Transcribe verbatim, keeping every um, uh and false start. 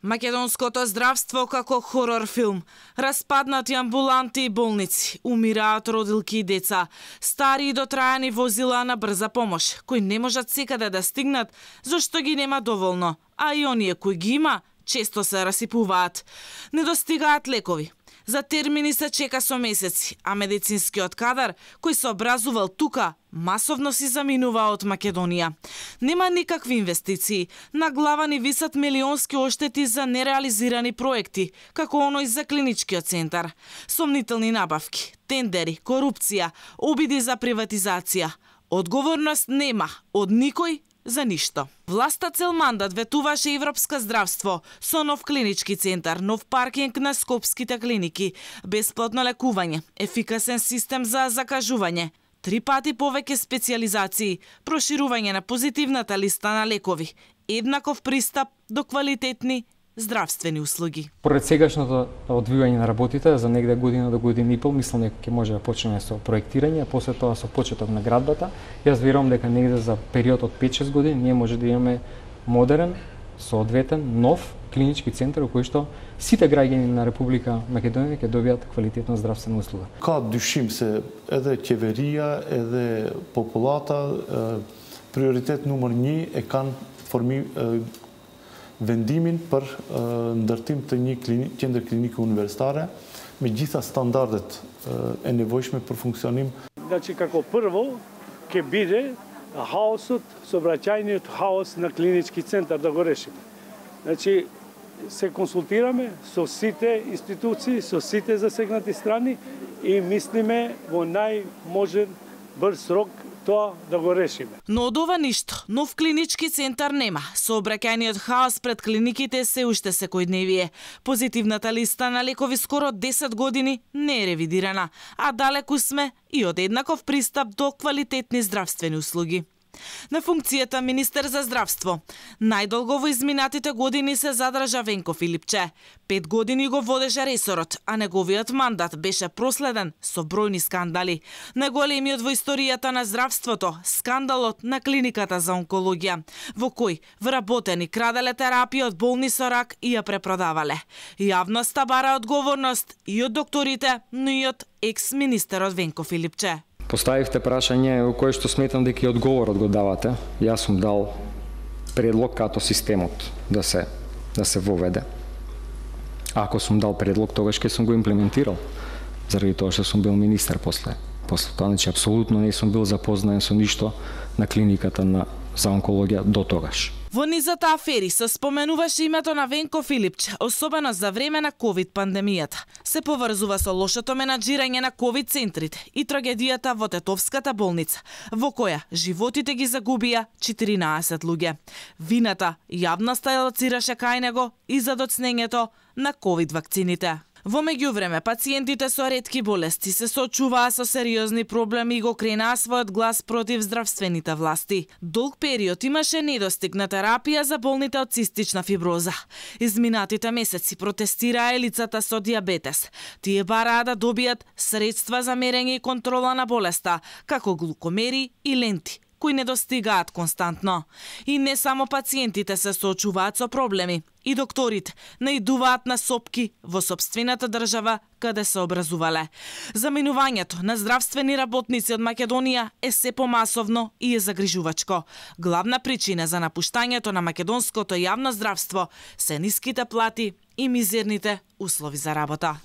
Македонското здравство како хорор филм. Распаднати амбуланти и болници, умираат родилки и деца, стари и дотрајани возила на брза помош, кои не можат секаде да стигнат, зашто ги нема доволно, а и оние кои ги има, често се расипуваат. Недостигаат лекови. За термини се чека со месеци, а медицинскиот кадар, кој се образувал тука, масовно си заминува од Македонија. Нема никакви инвестиции. На глава ни висат милионски оштети за нереализирани проекти, како оној за клиничкиот центар. Сомнителни набавки, тендери, корупција, обиди за приватизација. Одговорност нема од никој за ништо. Власта цел мандат ветуваше европска здравство со нов клинички центар, нов паркинг на скопските клиники, бесплатно лекување, ефикасен систем за закажување, три пати повеќе специјализации, проширување на позитивната листа на лекови, еднаков пристап до квалитетни здравствени услуги. Поред сегашното одвивање на работите за негде година до година и пол, мислам дека ќе може да почнеме со проектирање, а после тоа со почеток на градбата. Јас верувам дека негде за период од пет-шест години ние може да имаме модерен, соодветен, нов клинички центар во кој што сите граѓани на Република Македонија ќе добијат квалитетна здравствена услуга. Ka dyshim se edhe qeveria, edhe populata prioritet numër një e kanë formi vendimin për ndërtim të një qendër klinike universitare me gjitha standardet e nevojshme për funksionim. Значи како прво ќе биде хаосот, сообраќајниот хаос на клинички центар да го решиме. Значи се консултираме со сите институции, со сите засегнати страни и мислиме во најможен брз рок тоа да го решиме. Но од ова ништо, нов клинички центар нема. Сообраќајниот хаос пред клиниките се уште секојдневие. Позитивната листа на лекови скоро десет години не е ревидирана, а далеку сме и од еднаков пристап до квалитетни здравствени услуги. На функцијата министер за здравство. Најдолго во изминатите години се задржа Венко Филипче. Пет години го водеше ресорот, а неговиот мандат беше проследен со бројни скандали. Најголемиот во историјата на здравството, скандалот на клиниката за онкологија, во кој вработени краделе терапија од болни со рак и ја препродавале. Јавноста бара одговорност и од докторите, но и од екс-министерот Венко Филипче. Поставивте прашање во кое што сметам дека и одговорот го давате. Јас сум дал предлог като системот да се да се воведе. Ако сум дал предлог, тогаш ќе сум го имплементирал. Заради тоа што сум бил министер после. После тоа, значи апсолутно не сум бил запознаен со ништо на клиниката на за онкологија до тогаш. Во низата афери се споменуваше името на Венко Филипче, особено за време на ковид пандемијата. Се поврзува со лошото менаџирање на ковид центрите и трагедијата во Тетовската болница, во која животите ги загубија четиринаесет луѓе. Вината јавноста лоцираше кај него и за доцнењето на ковид вакцините. Во меѓувреме, пациентите со ретки болести се соочуваа со сериозни проблеми и го кренаа својот глас против здравствените власти. Долг период имаше недостиг на терапија за болните од цистична фиброза. Изминатите месеци протестираа лицата со диабетес. Тие бараа да добијат средства за мерење и контрола на болеста, како глукомери и ленти, кои не достигаат константно. И не само пациентите се соочуваат со проблеми, и докторите наидуваат на сопки во сопствената држава каде се образувале. Заминувањето на здравствени работници од Македонија е се помасовно и е загрижувачко. Главна причина за напуштањето на македонското јавно здравство се ниските плати и мизерните услови за работа.